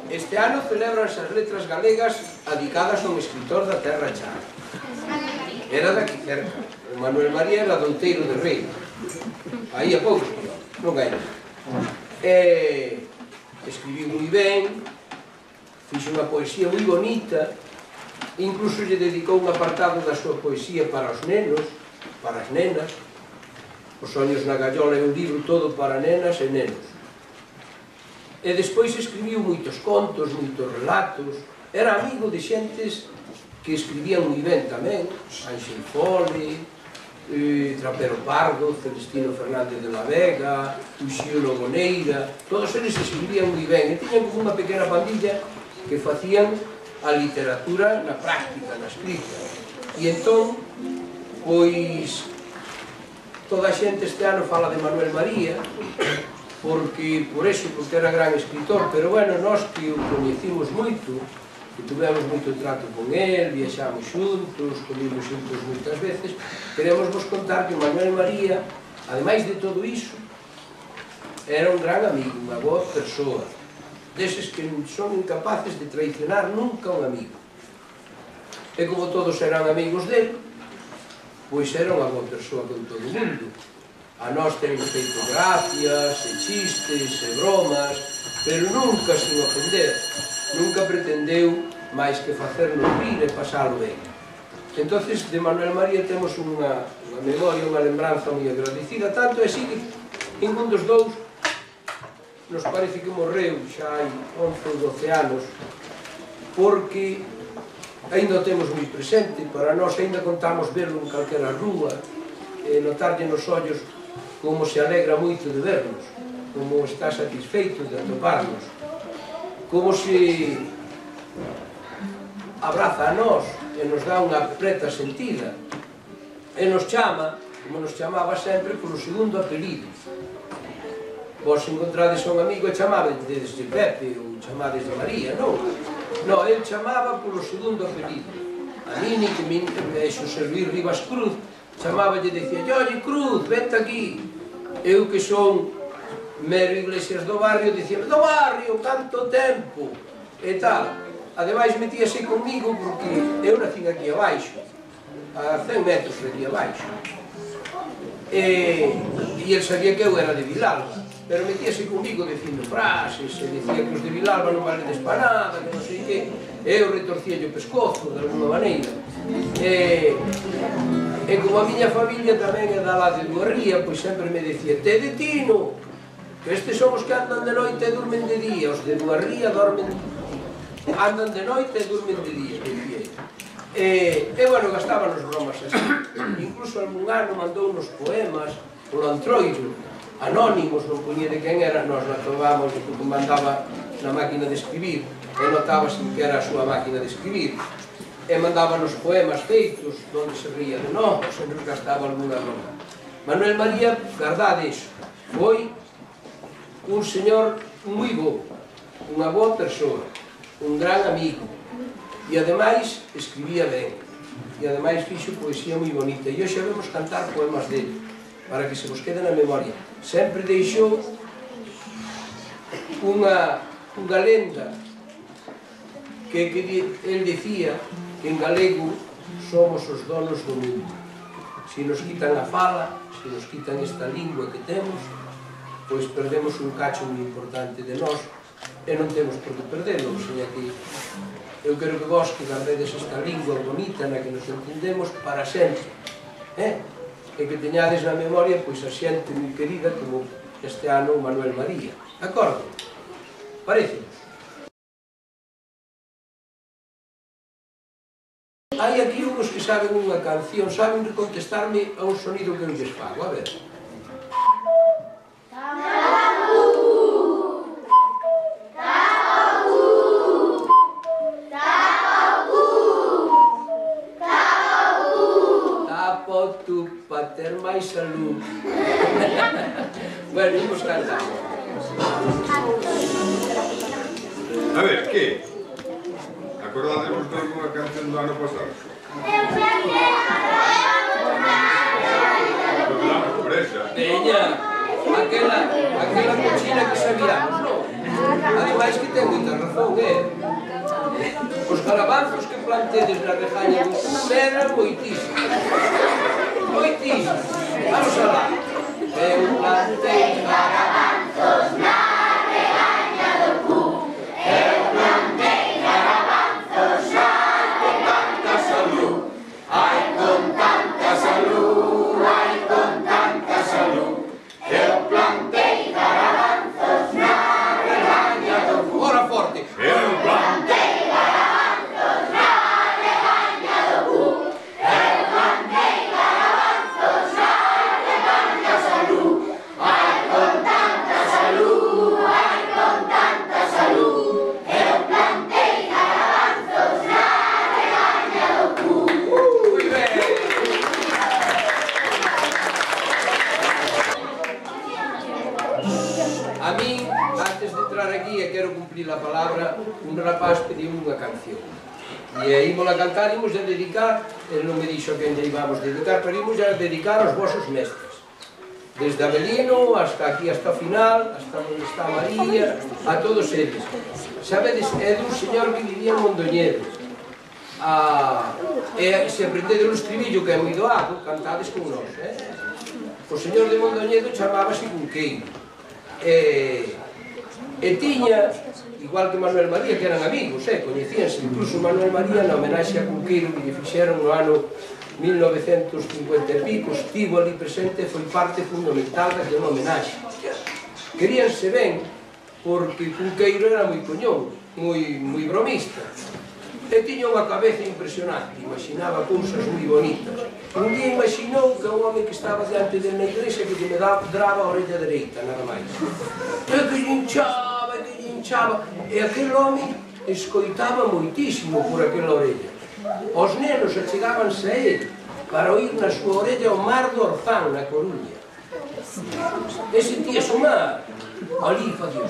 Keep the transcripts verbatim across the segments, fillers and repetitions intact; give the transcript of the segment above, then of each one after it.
Este ano celebranse as letras galegas adicadas a un escritor da Terra Cha. Era daqui cerca. O Manuel María era douteiro de Rei. Aí a poucos quilómetros, non hai nada. Escribiu moi ben, fixo unha poesía moi bonita, incluso lle dedicou un apartado da súa poesía para os nenos, para as nenas. Os soños na gallola é un libro todo para nenas e nenos. E despois escribiu moitos contos, moitos relatos. Era amigo de xentes que escribían moi ben tamén, Ángel Fole, Trapero Pardo, Celestino Fernández de la Vega, Uxío Loboneira. Todos eles escribían moi ben e tiñan como unha pequena pandilla que facían a literatura na práctica, na escrita. E entón, pois, toda a xente este ano fala de Manuel María, porque, por eso, porque era gran escritor, pero, bueno, nós que o coñecimos moito, que tuvemos moito trato con él, viaxamos xuntos, comimos xuntos moitas veces, queremos vos contar que Manuel María, ademais de todo iso, era un gran amigo, unha boa persoa, deses que son incapaces de traicionar nunca un amigo. E como todos eran amigos dele, pois era unha boa persoa con todo o mundo. A nós temos feito gracias, e chistes, e bromas, pero nunca sin ofender. Nunca pretendeu máis que facernos rir e pasalo ben. Entón, de Manuel María temos unha memoria, unha lembranza moi agradecida, tanto é así que ningún dos dous nos parece que morreu xa hai once ou doce anos, porque ainda o temos moi presente, para nós ainda contamos verlo en calquera rúa, e notarlle nos ollos como se alegra moito de vernos, como está satisfeito de atoparnos, como se abraza a nós e nos dá unha preta sentida, e nos chama, como nos chamaba sempre, polo segundo apelido. Vos encontrades a un amigo e chamabades de Pepe ou chamades de María, non? Non, ele chamaba polo segundo apelido. A Nini, que me Xosé Luis Rivas Cruz, chamaballe e dicía: "Oye, Cruz, vente aquí." Eu, que son mero Iglesias do barrio, dicía: "Do barrio, canto tempo!" E tal. Ademais, metíase comigo porque eu nacín aquí abaixo, a cen metros de aquí abaixo. E ele sabía que eu era de Vilalba, pero metíase comigo dicindo frases, e dicía que os de Vilalba non valedes para nada, que non sei que. Eu retorcía o pescozo, de alguma maneira. E como a miña familia tamén é da lá de Duarría, pois sempre me dicía: "Te de Tino, que estes son os que andan de noite e durmen de día, os de Duarría dormen, andan de noite e durmen de día", dicía. E, bueno, gastaban os bromas así. Incluso algún ano mandou unos poemas polo Antroiro, anónimos, non poñía de quen era, nós notábamos que mandaba na máquina de escribir, e notábase que era a súa máquina de escribir. E mandaban os poemas feitos, onde se ría de nós, sempre gastaba alguna broma. Manuel María, verdade iso, foi un señor moi bo, unha boa persoa, un gran amigo, e ademais escribía ben, e ademais fixo poesía moi bonita, e hoxe vamos cantar poemas dele, para que se vos quede na memoria. Sempre deixou unha lenda que ele dicía que en galego somos os donos do mundo. Se nos quitan a fala, se nos quitan esta lingua que temos, pois perdemos un cacho moi importante de nós e non temos por que perdelo, o sea que eu quero que vos que gardedes esta lingua bonita na que nos entendemos para sempre, e que teñades na memoria pois a xente moi querida como este ano Manuel María. De acordo? Parece? Hai aquí uns que saben unha canción, saben contestarme a un sonido que eu lles fago, a ver. Tapa tu pa ter máis salud. Bueno, imos cantar. A ver, que? Acordademos de alguna canción do ano pasado? Veña, aquela cochina que sabíamos, non? Ademais que ten moita razón, eh? Os garabanzos que plantedes na regaña do Cu eran moitísimos. Moitísimos. Vamos alá. Eu plantei garabanzos na regaña do Cu. Eu plantei garabanzos na con tanta salud. Ai, con tanta salud, ai, con tanta salud. Eu plantei garabanzos na regaña do Cu. Ora forte. Eu plantei garabanzos na regaña do Cu. Eu plantei garabanzos na regaña salud. Ai, con tanta salud, ai, con tanta salud. Eu plantei garabanzos na regaña do Cu. Moi ben. A min, antes de entrar aquí e quero cumplir a palabra, un rapaz pediu unha canción. E ímola cantar, imos a dedicar, ele non me dixo que ainda íbamos dedicar, pero imos a dedicar aos vosos mestres. Desde Abelino hasta aquí, hasta o final, hasta onde está María, a todos eles. Sabedes, é dun señor que vivía en Mondoñedo. E se aprendedes o estribillo, que é moi doado, cantades con nós. O señor de Mondoñedo chamábase Cunqueiro. E, e tiña, igual que Manuel María, que eran amigos, eh, coñecíanse, incluso Manuel María na homenaxe a Cunqueiro que lle fixeron no ano mil novecentos cincuenta e pico, estivo ali presente e foi parte fundamental daquela homenaxe. Queríanse ben, porque Cunqueiro era moi coñón, moi, moi bromista, e tiña unha cabeza impresionante, imaginaba cousas moi bonitas. Un día imaginou que un home que estaba diante de na igrexa que lle draba a orella dereita, nada máis. E que lle hinchaba, que lle hinchaba, e aquel home escoitaba moitísimo por aquela orella. Os nenos achegábanse a ele para oír na súa orella o mar do Orzán, na Coruña. E sentíase o mar, ali facía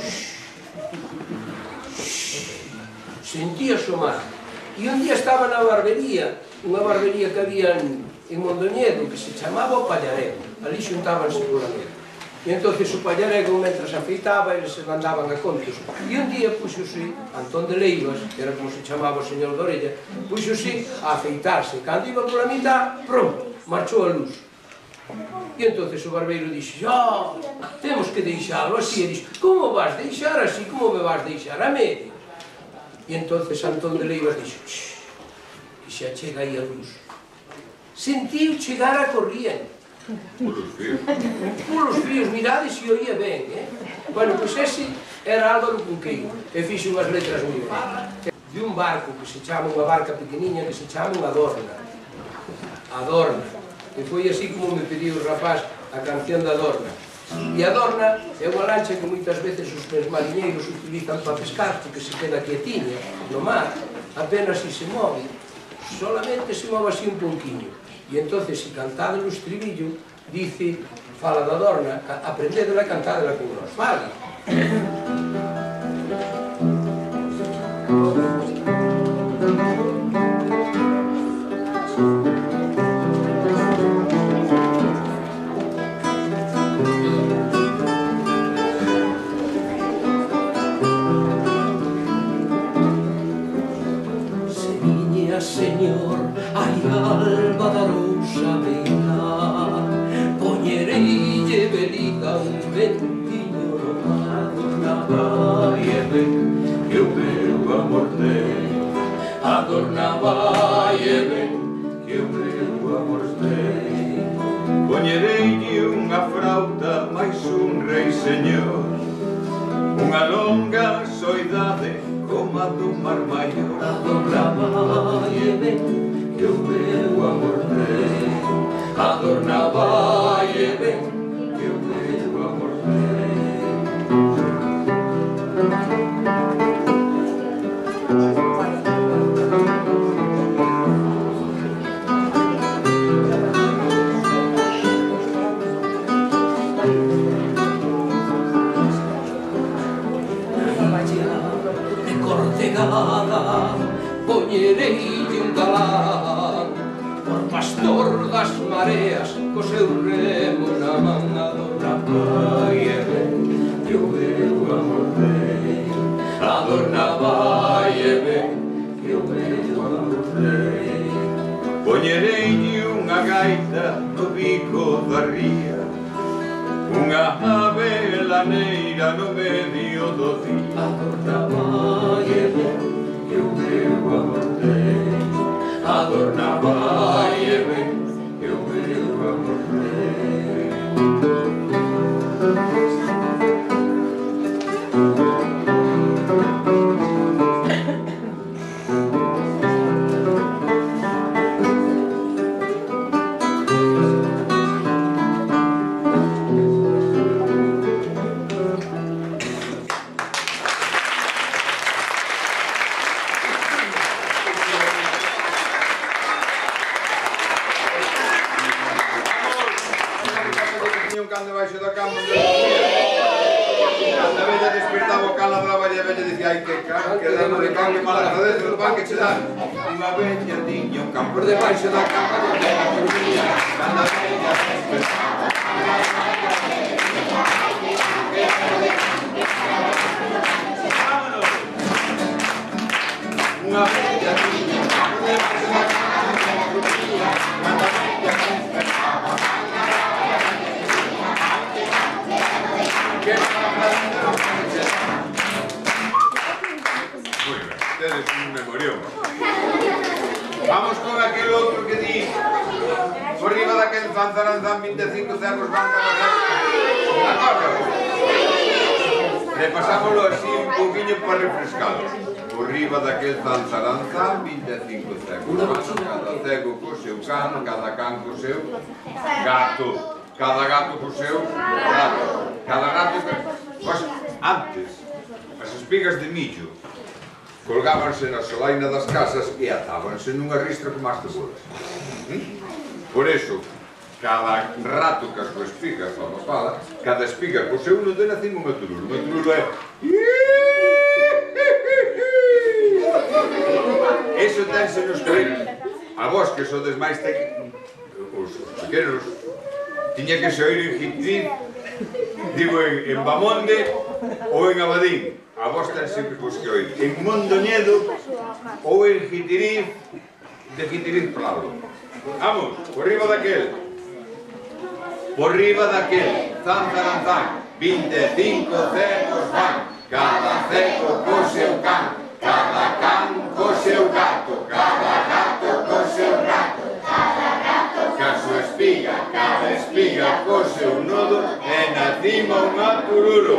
sentíase o mar. E un día estaba na barbería, unha barbería que había en, en Mondoñedo, que se chamaba o Pallarego. Ali xuntábanse por ali. E entón o Pallarego, mentras afeitaba, eles se mandaban a contos. E un día puxose Antón de Leivas, que era como se chamaba o señor de Orella, puxose a afeitarse. Cando iba pola mitad, pronto, marchou a luz. E entón o barbeiro dixo, ah, temos que deixalo así. E dixo, como vas deixar así, como me vas deixar a medio? E entón Antón de Leivas dixo, que xa chega aí a luz. Sentiu chegar a corriente. Pulos fíos. Pulos fíos, mirades e oía ben, eh? Bueno, pois ese era Álvaro Cunqueiro, e fixo unhas letras moi bonitas. De un barco que se chama, unha barca pequeniña que se chama unha Adorna. Adorna. E foi así como me pediu o rapaz a canción da Adorna. E a Adorna é unha lancha que moitas veces os mariñeiros utilizan para pescar, porque se queda quietiña no mar, apenas si se move, solamente se move así un pouquinho. E entón, se cantade no estribillo, dice, fala da Adorna, aprendedela a cantadela con nós, vale? Señor, ai alba da rosa beira, poñereille velita un ventiño no mar. Adornaba e ben, que o meu amor ten. Adornaba e ben, que o meu amor ten. Poñereille unha frauta máis un rei señor, unha longa soidade como a do mar maior. Adornaba e ben, que o meu amor ten. Adornaba e ben, que o meu amor ten. Poñereille un galán por pastor das mareas co seu remo na man. Adornaba e ben, que o meu amor ten. adorna vai e ven, que o meu amorrei. Poñereille unha gaita no bico da ría, unha ave laneira no medio do día. Adorna vai e ven, que o meu amorrei. Adorna vai e ven, que o meu amorrei. Cando baixo da cama cando a vella despertaba o can ladraba e a vella dicía ai que can, que dano de can, que mal agradece o pan que che dan. Unha vella tiña un can por debaixo da cama donde ela dormía. Cando a vella despertaba vámonos. Unha vella tiña un can por debaixo da cama donde ela dormía. Cando a vella despertaba muy ben, tedes un memorión. Vamos con aquel outro que di por riba daquel zanzaranzán vinte e cinco cerros van cabalgar. Acordo? Repasámoslo así un poquinho para refrescados. Por riba daquel zanzaranzán vinte e cinco cerros van cada cego co seu can, cada can co seu gato, cada gato co seu gato, cada gato co... Pois, antes, as espigas de millo colgábanse na solaina das casas e atábanse nunha ristra como as cebolas. Por eso, cada rato que a súa espiga fa unha pala, cada espiga co seu non ten acima unha tururo. Unha tururo é... Eso tense nos coelhos. A vos que sodes máis te... os pequenos, tiña que se oír en Jitín, digo en, en Bamonde ou en Abadín. A vos ten sempre vos que oír. En Mondoñedo ou en Jitiriz, de Jitiriz Prado. Vamos, por riba daquel. Por riba daquel. Zan, zan, zan. vinte e cinco cegos van. Cada cego co seu can. Cada can co seu gato. Cada gato co seu rato. Cada gato ca súa espiga. Cada espiga co seu nodo. E na cima unha tururo.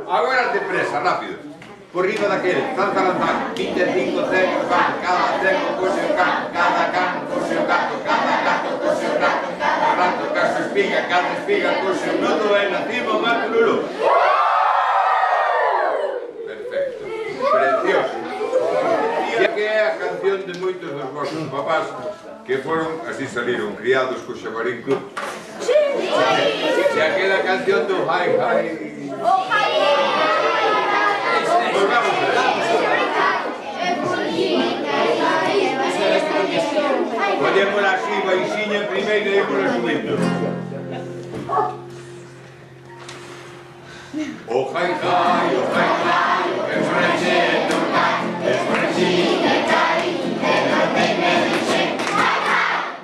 Agora te presa, rápido. Por riba daquel, zan, zan, zan, vinte e cinco cegos van, cada cego co seu can, cada can co seu gato, cada gato co seu rato, cada rato ca súa espiga, cada espiga co seu nodo e na cima unha tururo. Perfecto, precioso. E que é a canción de moitos dos vosos papás que foron, así saliron, criados co Xabarín Club. Sí! E aquela canción do Hai Hai... Oh, Hai Pues vamos a ver. Podémosla así, baixinha primeiro e ímola subindo. O Hai Hai, o Hai Hai, que frexe non cai, es frexinha cai, e non ten que dixen Hai Hai.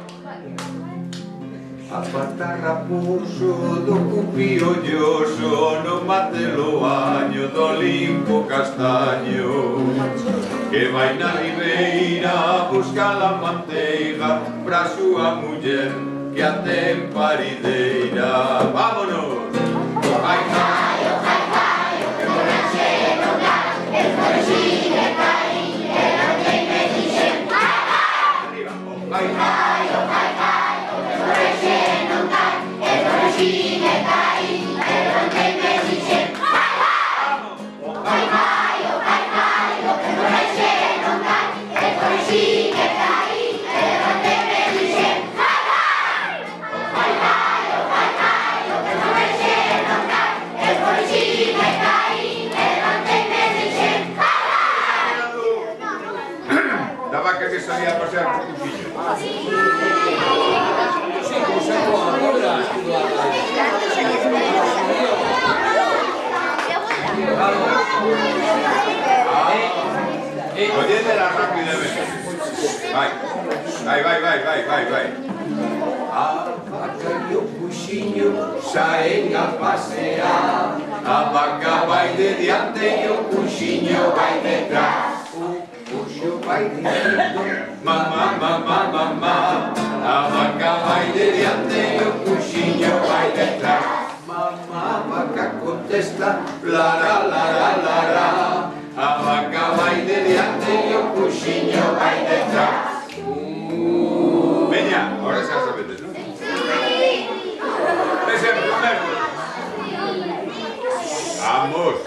Aparta raposo do cupío lloso, no mate loaño do limpo castaño, que vai na ribeira buscar a manteiga pra súa muller que a ten parideira. Vámonos! O Hai Hai, o Hai Hai, o que frexe non cai, el frexiñe cai, e non ten que dixen Hai Hai. Arriba, o Hai Hai, o Hai Hai, o que frexe non cai, el frexiñe cai, e non ten que dixen Hai Hai. O Hai Hai, o Hai Hai, o que frexe non cai, el frexiñe cai, e non ten que dixen Hai Hai. O Hai Hai, o Hai Hai, o que frexe non cai, el frexiñe cai, e non ten que dixen Hai Hai. Da vaca que salía a pasear por tu fillo. Sí, como se pone, ahora, vai, vai, vai. A vaca e o coxinho saen a pasear. A vaca vai de diante e o coxinho vai detrás. O coxo vai diciendo Mamá, mamá, mamá. A vaca vai de diante e o coxinho vai detrás. mamá, vaca contesta Lara, lara, lara. A vaca vai de diante e o coxinho vai detrás. Veña, ahora xa sabedes, non? Exemplo, mesmo. Vamos.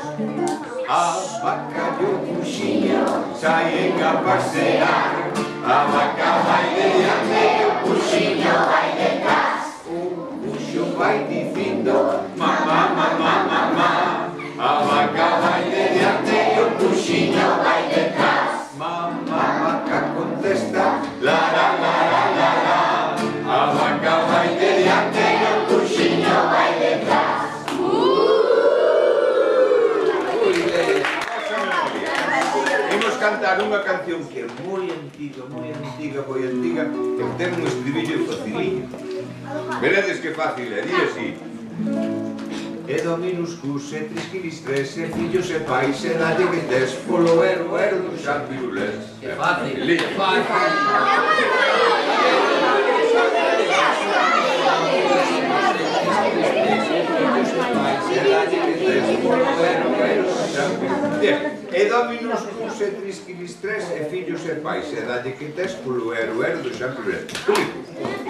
a vaca e o coxinho Saen a pasear. A vaca vai de diante e o coxinho vai detrás. o coxo vai dicindo Mamá, mamá, mamá. A vaca vai de diante e o coxinho vai detrás. mamá, vaca contesta Lara, lara, lara. A vaca vai de diante e o coxinho vai detrás. Nosa memoria. Imos cantar unha canción que é moi antiga, moi antiga, moi antiga, que ten un estribillo faciliño. Veredes que fácil é, di así. E dominus cus e trisquilis tres e fillos e pais e dalle que tes polo ero ero do San Pirulés. Que fácil, que E dominus cus e trisquilis tres e fillos e pais e dalle que tes polo ero ero do San Pirulés.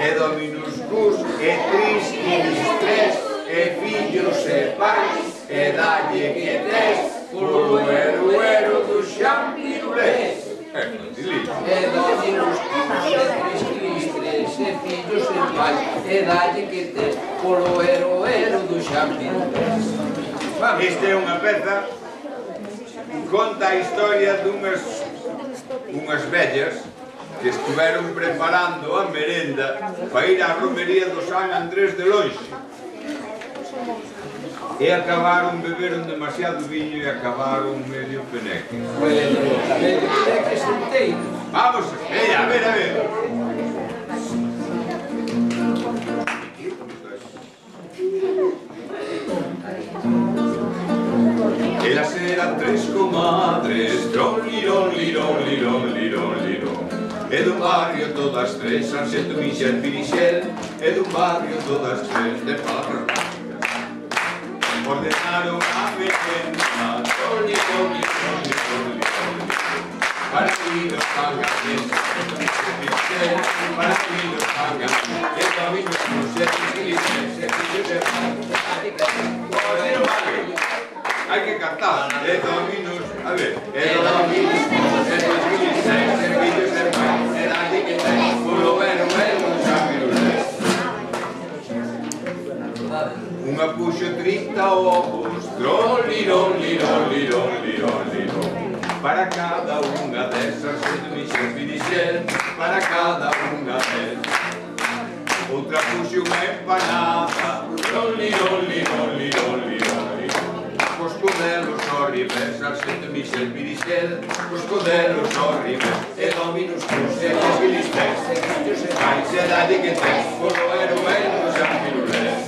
E dominus cus e trisquilis tres e fillos e pais e dalle que tes polo ero ero do San Pirulés. É facilito. E dominus cus e trisquilis tres e fillos e pais e dalle que tes polo ero ero do San Pirulés. Esta é unha peza que conta a historia dunhas unhas vellas que estiveron preparando a merenda para ir á romería do San Andrés de lonxe. E acabaron, beberon demasiado viño e acabaron medio peneque. Bueno, medio peneque senteiro. Vamos, veña, a ver, a ver. Elas eran tres comadres, tron, lirón, lirón, lirón, lirón, lirón. E dun barrio todas tres, Sanxeto, Mixel, Pirixel. E dun barrio todas tres, de Parras. Ordenaron a merenda, tron, lirón, lirón, lirón, lirón. Para que los pagan bien, Pirixel, para que los pagan bien. E dominus cus e trisquilis tres, e fillos e pais. Pero vale. Hai que cantar, e dominus, a ver, e dominus cus e trisquilis tres, e fillos e pais, e dalle que tes polo ero ero do San Pirulés. Unha puxo trinta ovos, tron, lirón, lirón, lirón, lirón, lirón. Para cada unha desas, Sanxeto, Mixel, Pirixel, para cada unha desas. Outra puxo unha empanada, tron, lirón, lirón, lirón, lirón, lirón. Cos codelos horribles, Sanxeto, Mixel, Pirixel, cos codelos horribles. E dominus cus e trisquilis tres, e fillos e pais, e dalle que tes polo ero ero do San Pirulés.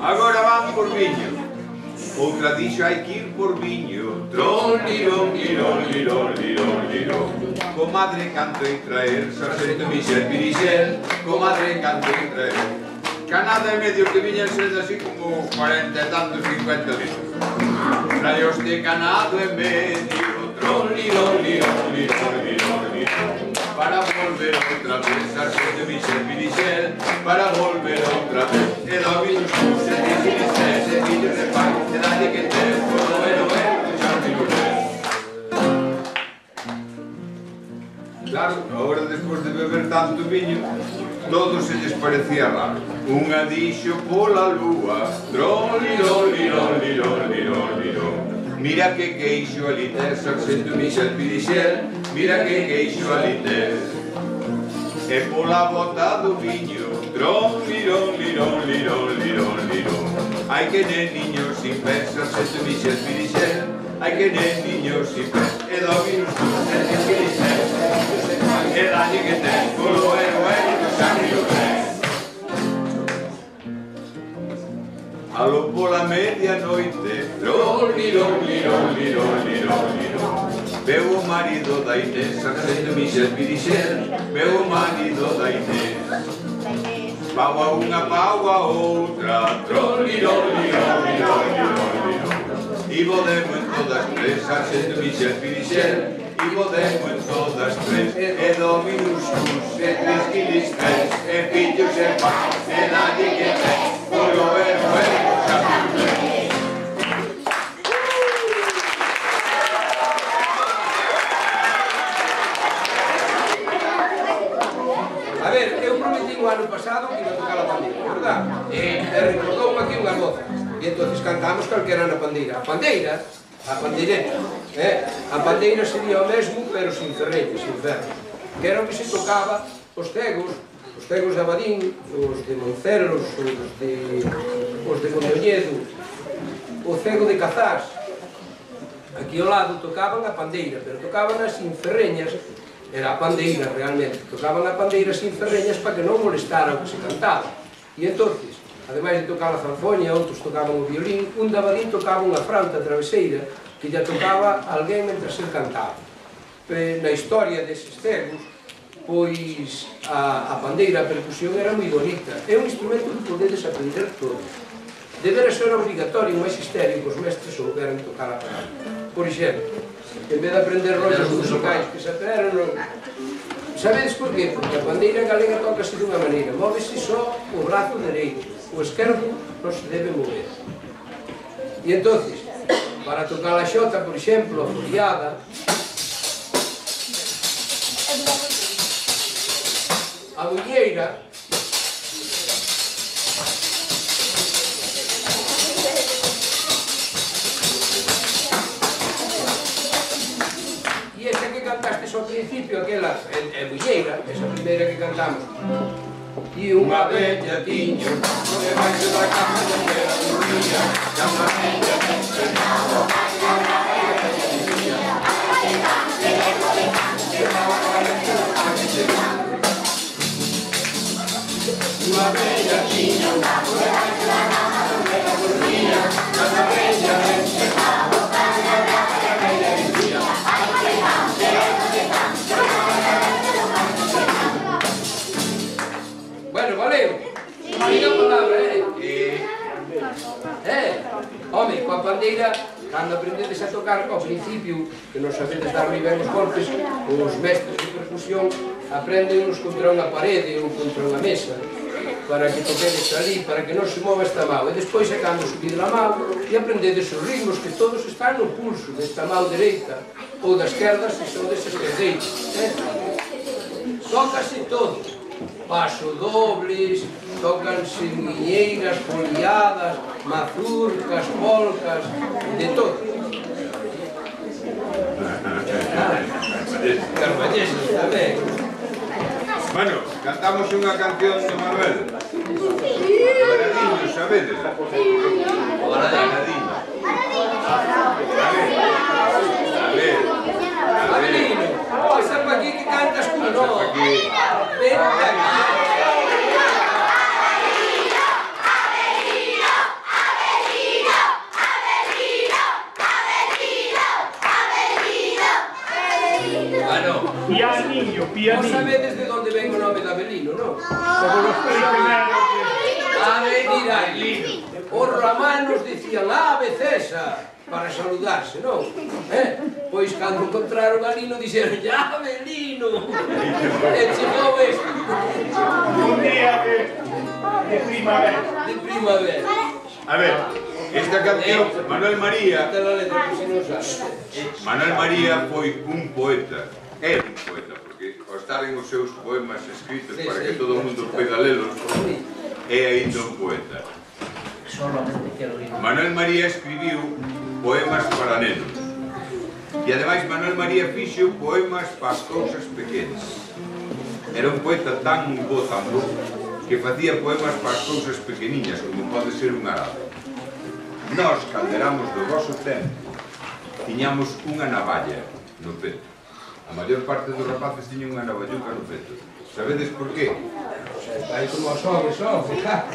Agora van por viño. Outra dixo hai que ir por viño. Tron, lirón, lirón, lirón, lirón, lirón. Comadre canto e traer, Sanxeto, Mixel, Pirixel, comadre canto e traer. Canada e medio que viñan sendo así como cuarenta e tantos, cincuenta litros. Traeos de canado e medio, tron, lirón, lirón, lirón, lirón, lirón. Para volver outra vez, Sanxeto, Mixel, Pirixel, para volver outra vez. E dominus cus e trisquilis tres, e fillos e pais, e dalle que tes polo ero ero do San Pirulés. Claro, agora despois de beber tanto viño, todo se lles parecía raro. Unha dixo pola lúa, tron, lirón, lirón, lirón, lirón, lirón. Mira que queixo ali tes, Sanxeto, Mixel, Pirixel, mira que queixo ali tes. E pola bota do viño, tron, lirón, lirón, lirón, lirón, lirón. Hai que nen niños sin pés, Sanxeto, Mixel, Pirixel, hai que nen niños sin pés. E dominus cus e trisquilis tres, e e dalle que ten, polo ero ero do sangue do tren. Alo pola medianoite, loli, loli, loli, loli, loli, veu o marido da Inés, Sargento Michel Pirixel, veu o marido da Inés. Pau a unha, pau a outra, troli, loli, loli, loli, loli, e bodemo en todas tres, Sargento Michel Pirixel, e bodemo en todas tres, e dominus cus, e tres quilis tres, e fillos e paz, e nadie que ten, polo ero ero, a ver, eu prometi o ano pasado que iba a tocar a pandeira, verdad? E recordou aquí unha goza. E entón cantamos calquera na pandeira. A pandeira, a pandeireta, eh? A pandeira sería o mesmo, pero sin ferreños, sin ferros. Que era o que se tocaba os cegos, os cegos de Abadín, os de Moncelos, os de, os de Mondoñedo, o cego de Cazás. Aquí ao lado tocaban a pandeira, pero tocaban as sin ferreñas. Era a pandeira realmente, tocaban a pandeira sin ferreñas para que non molestara o que se cantaba. E entonces, ademais de tocar a zanfoña, outros tocaban o violín, un de Abadín tocaba unha frauta traveseira que lla tocaba alguén mentre se cantaba. Na historia deses cegos, pois a, a pandeira, a percusión era moi bonita. É un instrumento que podedes aprender todos. Debera ser obligatorio un magisterio que os mestres souberan tocar a pandeira. Por exemplo, en vez de aprender rollos musicais que se aperan, non... Sabedes por qué? Porque a pandeira galega tocase dunha maneira, móvese só o brazo dereito, o esquerdo non se debe mover. E entonces, para tocar a xota, por exemplo, a foliada, a muñeira, cantastes ao principio, aquela é muñeira, esa primeira que cantamos. E unha bella tiño, por debaixo da cama onde era dormía, e unha bella encenado, unha bella tiña, unha bella tiño, por debaixo da cama onde era dormía, e unha bella encenado, unha bella tiña. Bueno, valeu. Diga a palabra, eh? Eh, home, coa pandeira, cando aprendedes a tocar ao principio, que non sabedes dar moi ben os golpes, os mestres de percusión aprendennos contra unha parede ou contra unha mesa, para que toquedes ali, para que non se mova esta mão. E despois é cando subide a mão e aprendedes os ritmos que todos están no pulso desta mão dereita ou da esquerda se son deses esquerdeiros. Eh? Tócase todo. Paso dobles, tócanse guiñeiras, foliadas, mazurcas, polcas, de todo. Carballeses tamén. Bueno, cantamos unha canción de Manuel. Baradinho, sabedes? Baradinho. A ver. Abelino, pasa pa aquí que cantas con nós. Ven aquí. Pianinho, pianinho. Vos sabedes de onde ven o nome de Abelino, non? Como los primeros. Avenida Avelino. Os romanos dicían Ave César para saludarse, non? Eh? Pois cando encontraron a Lino dixeron Avelino. E chegou este. Un día de, de primavera. De primavera. A ver, esta canción, Manuel María, Esta é a letra, que se non sabe. Manuel María foi un poeta, é un poeta, porque ao estaren os seus poemas escritos Sí, para sí, que todo o mundo poida lelos, é aínda un poeta. Manuel María escribiu poemas para nenos. E ademais Manuel María fixo poemas para as cousas pequenas. Era un poeta tan bo, tan bo, que facía poemas para as cousas pequeniñas, como pode ser un arado. Nós, calderamos do vosso tempo, tiñamos unha navalla no peto. A maior parte dos rapaces tiñan unha navalluca no peto. Sabedes por qué? Aí como os homes son, fija.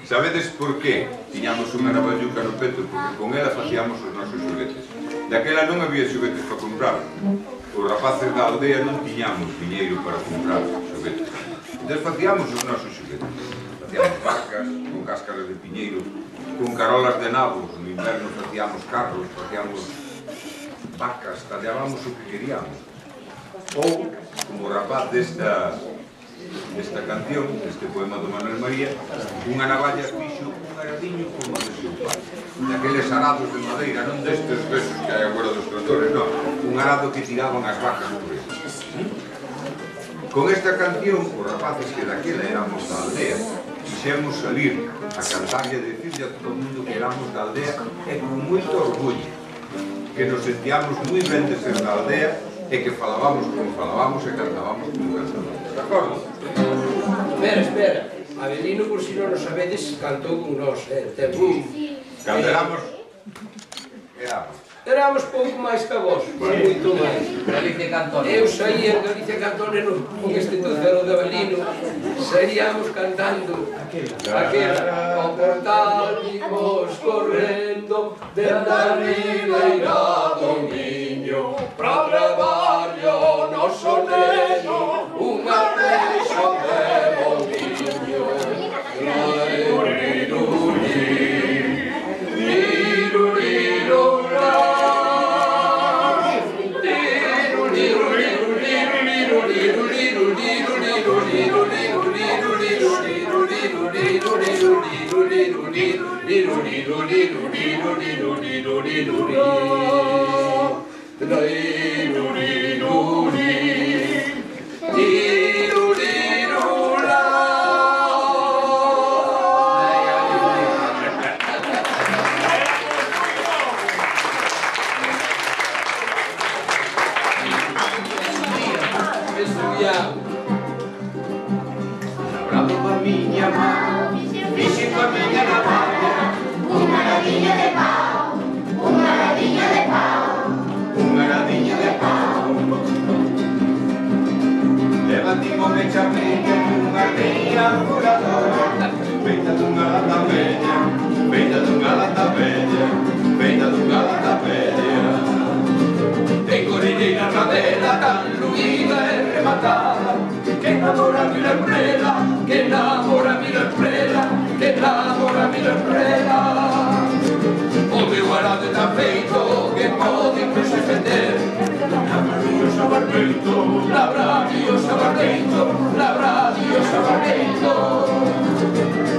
Sabedes por qué tiñamos unha navalluca no peto? Porque con ela facíamos os nosos xoguetes. Daquela non había xoguetes para comprar. Os rapaces da aldea non tiñamos diñeiro para comprar xoguetes. Entón facíamos os nosos xoguetes. Facíamos barcas con cáscaras de piñeiro, con carolas de nabos. No inverno facíamos carros, facíamos vacas, tallábamos o que queríamos. Ou, como o rapaz desta esta canción, este poema do Manuel María, unha navalla fixo un aradiño como de seu pai. Daqueles arados de madeira, non destes besos que hai agora dos tractores, non. Un arado que tiraban as vacas por ele. Con esta canción, os rapaces que daquela éramos da aldea, quixemos salir a cantar e a dicirle a todo o mundo que éramos da aldea e con moito orgullo, que nos sentíamos moi ben de ser da aldea e que falábamos como falábamos e cantábamos como cantábamos. De acordo? Espera, espera. Avelino, por si non o sabedes, cantou con nós, eh? Cando éramos... Éramos. Éramos pouco máis que vos, moito máis. Galicia Cantón. Eu saía en Galicia Cantón con este tocero de Avelino, saíamos cantando aquela ao portal imos correndo desde a ribeira do Miño pra traballo noso neno unha reixa de bombiño. Labrado pa miña man, fixe pa miña navalla, Unha aradiña de pau, unha aradiña de pau, unha aradiña de pau. Levantimo me chamella nunha reña voladora, feita dunha lata bella, feita dunha lata bella, feita dunha lata bella. Ten corelleira na vela tan luída e rematada, que enamora a mila prela, que enamora a mila prela, que enamora a mila prela. O meu arado está feito que pode incluso defender. Labradio sabarbeito, labradio sabarbeito, labradio sabarbeito.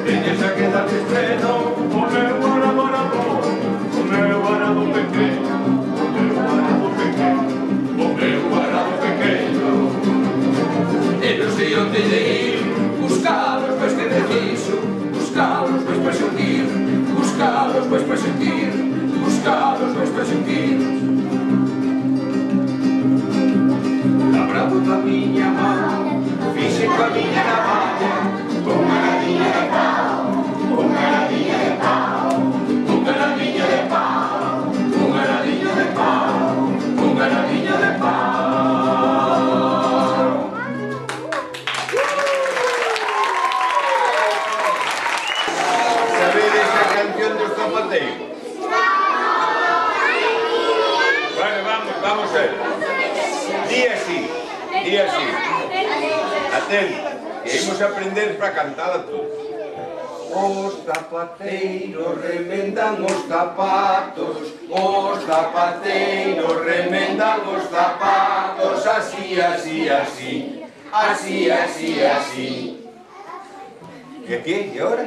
Teñes a quedar de estreno, o meu arado arado, o meu arado pequeno, o meu arado pequeno, O meu arado pequeno. E non sei onde de ir, buscalos pois que preciso, buscalos pois para sentir, buscalos pois para sentir, buscalos pois para sentir. Labrado pa miña man, fixe pa miña navalla, unha aradiña de pau, unha aradiña de pau, Unha aradiña de pau, unha aradiña de pau, unha aradiña de pau. sabedes a canción dos zapateiros? Vale, vamos, vamos a ver. Di así, di así. Atento, que imos aprender para cantala tú. Os zapateiros remendan os zapatos, os zapateiros remendan os zapatos, así, así, así, así, así, así. E aquí, e ahora?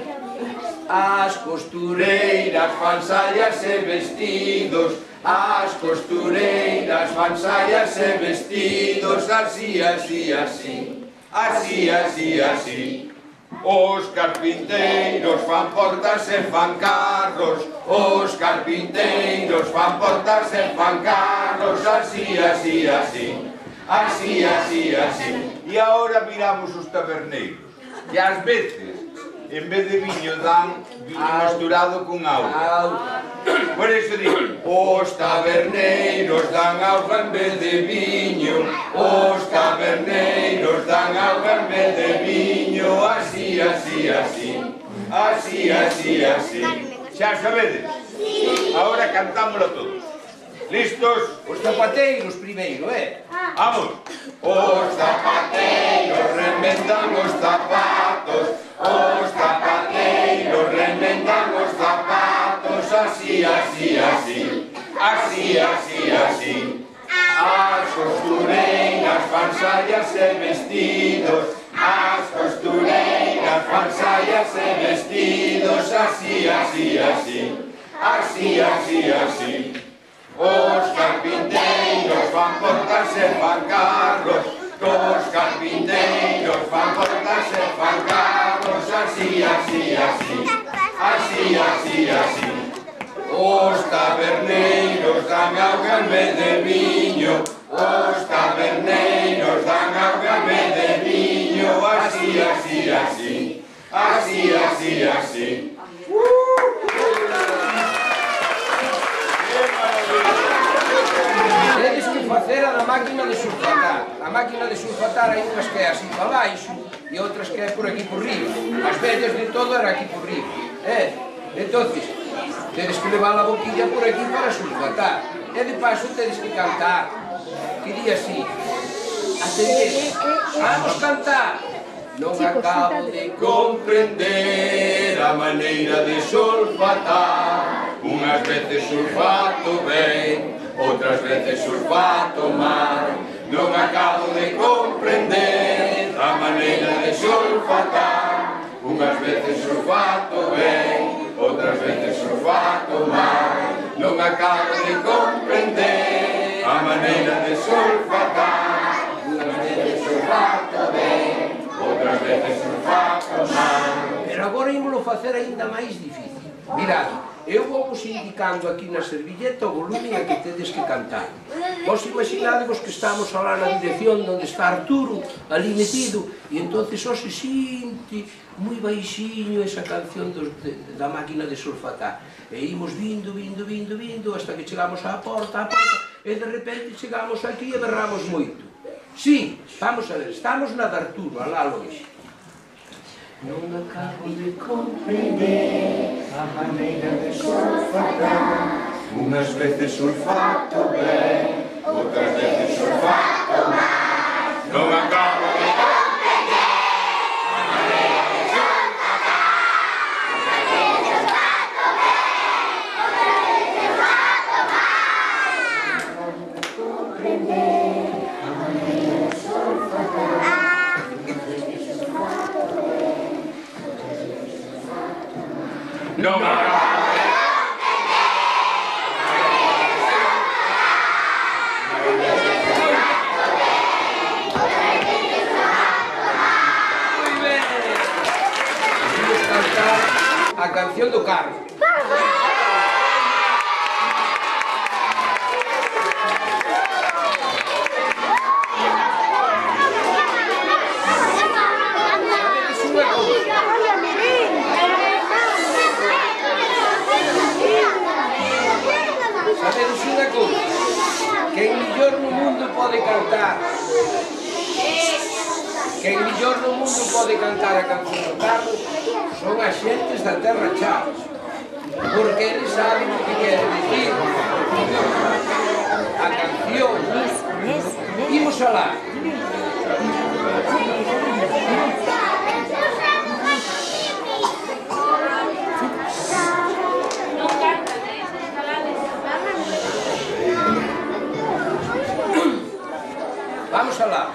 As costureiras fan saias e vestidos, as costureiras fan saias e vestidos, así, así, así, así, así, así. Os carpinteiros fan portas e fan carros, Os carpinteiros fan portas e fan carros, así, así, así, así, así, así. e agora viramos os taberneiros. E ás veces en vez de viño dan viño mesturado con auga. Por eso digo, os taberneiros dan auga en vez de viño, os taberneiros dan auga en vez de viño, así, así, así, así, así, así. Xa sabedes? Ahora cantámoslo todos. Listos? Os zapateiros primeiro, eh? Vamos. Os zapateiros remendan os zapatos, os zapateiros remendan os zapatos, así, así, así, así, así, así. As costureiras fan saias e vestidos, as costureiras fan saias e vestidos, así, así, así, así, así, así. Os carpinteiros fan portas e fan carros, os carpinteiros fan portas e fan carros, así, así, así, así, así, así. Os taberneiros dan auga en vez de viño, os taberneiros dan auga en vez de viño, así, así, así, así, así, así. Tedes que facer a da máquina de sulfatar. A máquina de sulfatar hai unhas que é así para baixo e outras que é por aquí por riba. As vellas de todo era aquí por riba. Eh? Entonces, tedes que levar a boquilla por aquí para sulfatar. E de paso tedes que cantar. Que di así. Atended. Vamos cantar. Non acabo de comprender a maneira de sulfatar. Unhas veces sulfato ben, outras veces sulfato mal. Non acabo de comprender a maneira de sulfatar. Unhas veces sulfato ben, outras veces sulfato mal. Non acabo de comprender a maneira de sulfatar. Unhas veces sulfato ben, outras veces sulfato mal. Pero agora ímolo facer aínda máis difícil. Mirad, eu vou vos indicando aquí na servilleta o volumen a que tedes que cantar. Vos imaginadevos que estamos alá na dirección onde está Arturo, ali metido, e entonces só se sinte moi baixiño esa canción dos, de, da máquina de sulfatar. E imos vindo, vindo, vindo, vindo, hasta que chegamos á porta, á porta, e de repente chegamos aquí e berramos moito. Sí, vamos a ver, estamos na de Arturo, alá longe. Non acabo de comprender a maneira de sulfatar. Unhas veces sulfato ben, outras veces sulfato mal. Non acabo de comprender a maneira de sulfatar. Unhas veces sulfato ben, outras veces sulfato mal. Non acabo de comprender a maneira de sulfatar. No me acabo de Muy bien. Vamos a cantar a canción do carro. Sabedes unha cousa, quen millor no mundo pode cantar, quen millor no mundo pode cantar a canción do carro son as xentes da Terra Chaves, porque eles saben o que quere dicir a canción. Imos alá. Vamos alá.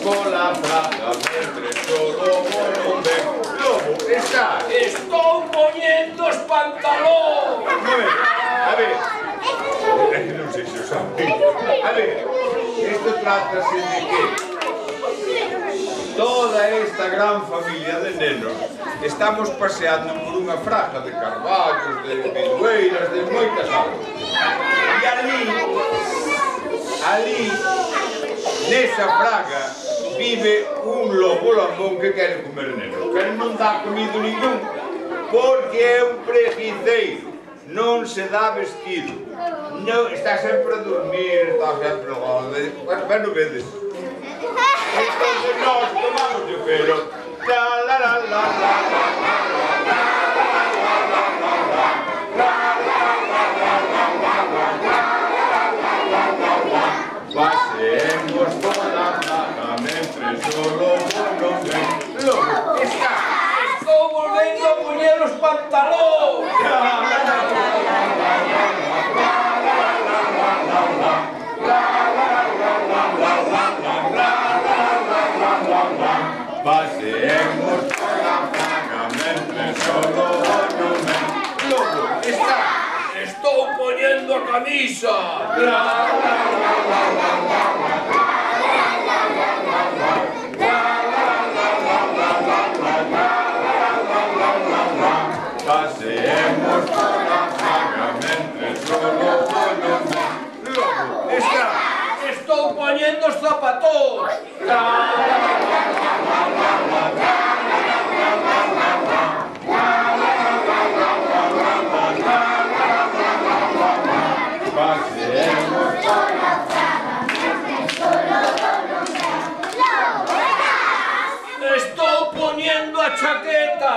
pola praza, mentre solo non ven. Lobo, está. Estou poñendo os pantalóns. A ver, a ver. Non sei se o sabe. A ver, isto trátase de que toda esta gran familia de nenos estamos paseando por unha fraga de carballos, de vidueiras, de moitas aulas. E ali, ali, nesa fraga, vive un lobo lambón que quere comer nenos, pero non dá comido ningún, porque é un preguiceiro, non se dá vestido, non, está sempre a dormir, está sempre longe, bueno, vedes. Entonces nós tomamos de pelo, la la la la la la. Paseemos pola plaza mentre solo non ven. Lobo, está. Estou volvendo a poñer os pantalóns. Paseemos pola plaza mentre solo non ven. Lobo, está. Estou poñendo a camisa. Paseemos pola plaza mentre solo non ven. Lobo, está. Estou poñendo os zapatóns. Paseemos pola fraga, mentre solo non ven. Lobo, estás. Estou poñendo a chaqueta.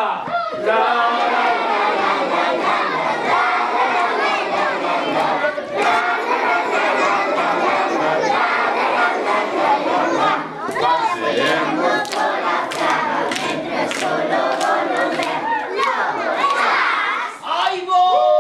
Paseemos pola fraga, mentre solo non ven. Lobo, estás. Aí vou!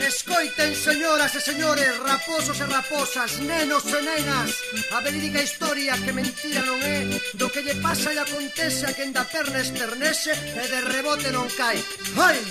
Escoiten, señoras e señores, raposos e raposas, nenos e nenas, a verídica historia que mentira non é do que lle pasa e acontece a quen da perna esternese e de rebote non cai. Ai!